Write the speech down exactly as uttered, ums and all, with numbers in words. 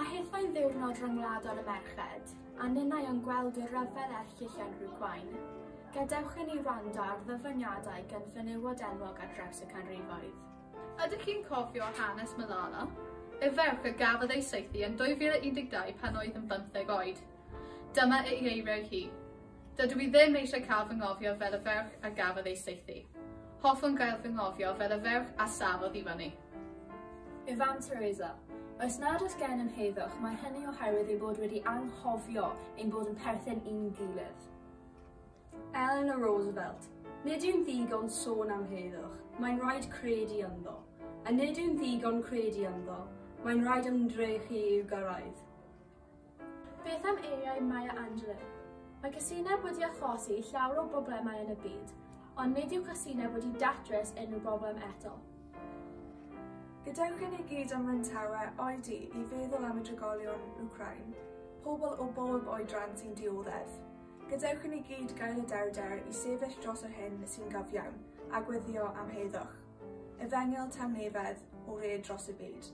hithau'n ddiwrnod rhyngwladol y merched, a ninnau yn gweld y rhyfel erchyll yn Wcráin, gadewch i ni wrando ar ddyfyniadau gan fenywod enwog ar draws y canrifoedd. Ydych chi'n cofio hanes Malala? Y ferch a gafodd ei saethu yn dwy fil a un deg dau pan oedd yn bymtheg oed. Dyma ei eiriau hi. Dydw i ddim eisiau cael fy nghofio fel y ferch a gafodd ei saethu. Hoffwn gael fy nghofio fel y ferch a safodd i fyny. Y fam Teresa. Os nad oes gennym heddwch, mae hynny oherwydd ei bod wedi anghofio ein bod yn perthyn i'n gilydd. Eleanor Roosevelt. Nid yw'n ddigon sôn am heddwch, mae'n rhaid credu ynddo. A nid yw'n ddigon credu ynddo, mae'n rhaid ymdrechu i'w gyrraedd. Beth am eiriau Maya Angelou? Mae casineb wedi achosi llawer o broblemau yn y byd, ond nid yw casineb wedi datrys unrhyw broblem eto. Gadewch i ni gyd ym Mryntawe oedi i feddwl am y drigolion Wcráin, pobl o bob oedran sy'n dioddef. Gadewch i ni gyd gael y dewrder i sefyll dros yr hyn sy'n gyfiawn a gweddio am heddwch. Efengyl tangnefedd o red dros y byd.